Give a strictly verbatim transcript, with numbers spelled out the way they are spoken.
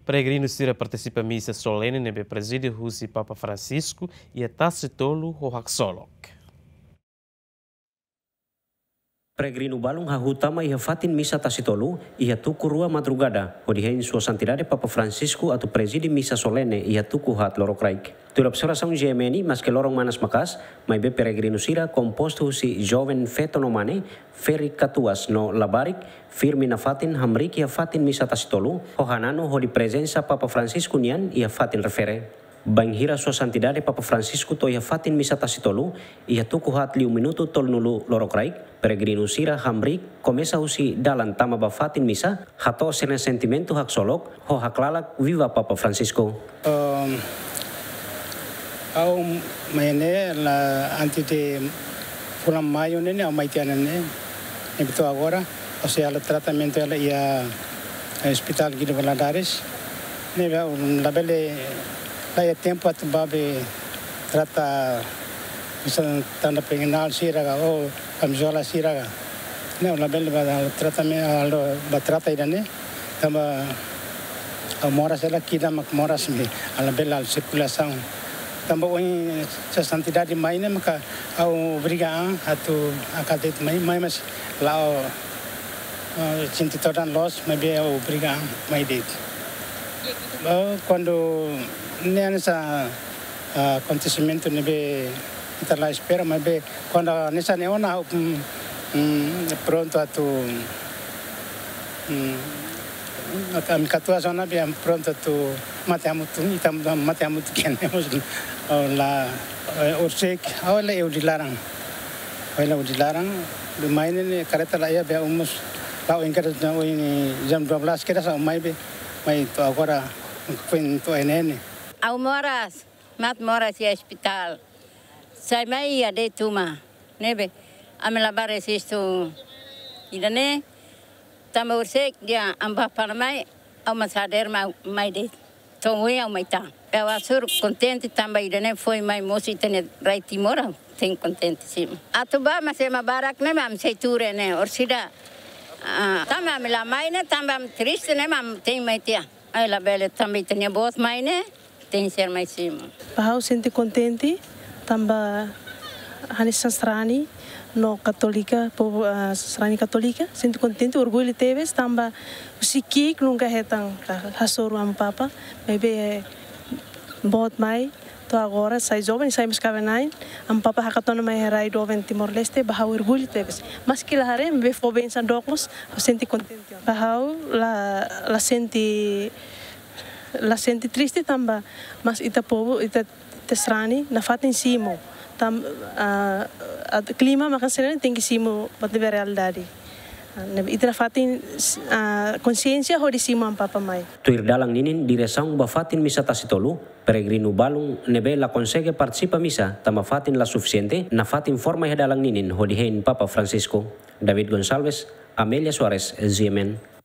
Peregrinu sira partisipa misa solene ne'ebé prezide husi Papa Francisco iha Tasitolu ho haksolok. Peregrinu balun hahú tama iha fatin misa Tasitolu iha tuku rua madrugada, hodi hein Sua Santidade Papa Francisco atu prezide misa solene iha tuku haat lorokraik. Tuir observasaun G M N, maske loron manas maka'as, maibé peregrinu sira kompostu husi joven feto no mane, ferik katuas no labarik, firme nafatin hamriik iha fatin misa Tasitolu, ho hananu hodi prezensa Papa Francisco nian iha fatin refere. Bainhira Sua Santidade Papa Francisco to'o iha fatin misa Tasitolu, iha tuku haat liu minutu tolunulu lorokraik, peregrinu sira hamriik komesa husi dalan tama ba fatin misa, hato'o sira-nia sentimentu haksolok, ho haklalak Viva Papa Francisco. Um, ha'u mai ne'e la antes de fulan maiu ne'e, ne'e ha'u mai tiha ne'e. Ne'ebé to'o agora, ha'u sei halo tratamentu hela iha, eh, Hospital Guido Valadares. Ne'ebé ha'u labele, la iha tempu atu bá be trata, misalnya tanda pengenal sira ka, ou kamizola sira ka. Ne'e ha'u labele bá tratamentu, halo bá trata ida-ne'e. Tanba ha'u moras hela, ki'ik mak moras ne'e, ha'u labele halo sirkulasaun. Tanba ohin Sua Santidade mai ne'e maka ha'u obriga an atu hakarak de'it mai, mai mas la'o, eh, sente todan loos, maibé ha'u obriga an mai de'it. Eh, kuandu ne'e hanesan, ah, akontesimentu ne'ebé ita la espera, maibé kuandu hanesan ne'e ona, ha'u, mm, mm, prontu atu, mm, atu ami katuas ona be ami prontu atu mate hamutuk, ita mate hamutuk kian. Ha'u la, eh, horisehik, ha'u la iha hodi laran. Ha'u la iha hodi laran, be mai ne'e kareta la iha be ha'u mós, la iha kareta na ohin jam dua belas kedas ha'u mai be, mai to'o agora, foin to'o iha ne'e. Ha'u moras, mak moras iha ospitál. Sai mai iha de'it uma. Ne'ebé, ami la bá rejistu ida-ne'e, tanba horisehik dehan ami bá fali mai, ha'u mós hadeer mai, mai de'it. To'o ohin ha'u mai tan. Ha'u hasoru kontente tanba ida-ne'e foin mai mosu ita-nia rai Timor, ha'u tenke kontente simu. Atu bá, mas ema barak ne'e mak ami sei tuur ne'e, orsida. Ah, tanba ami la mai ne'e, tanba ami triste ne'e mak ami tenke mai tiha. Ai labele tanba ita-nia boot mai ne'e, tenke ser mai simu. Ba ha'u sente kontente, tanba hanesan sarani no katólika, povu, ah, sarani katólika, sente kontente, orgullu tebes, tanba husi ki'ik nunka hetan, ah, hasoru Amu Papa, maibé boot mai, to'o agora sai joven, sai mós kaben-na'in, Amu Papa hakat ona mai iha rai doben Timor-Leste, ba ha'u orgullu tebes. Maske la haree, maibé fó bensaun dook mós, ha'u sente kontente. Ba ha'u la, la sente, la sente triste tanba, mas ita povu, ita, ita sarani, nafatin simu. Tan-, ah, at-, klima maka sira-ne'e tenke simu, buat ne'ebé realidade. Ah, ne'ebé ita nafatin, ah, konsiénsia hodi simu Amu Papa mai. Tuir dalan ninin diresaun ba fatin misa Tasitolu, peregrinu balun ne'ebé la konsege partisipa misa, tanba fatin la sufisiente, nafatin forma iha dalan ninin hodi hein Papa Francisco. David Gonçalves, Amelia Soares, G M N.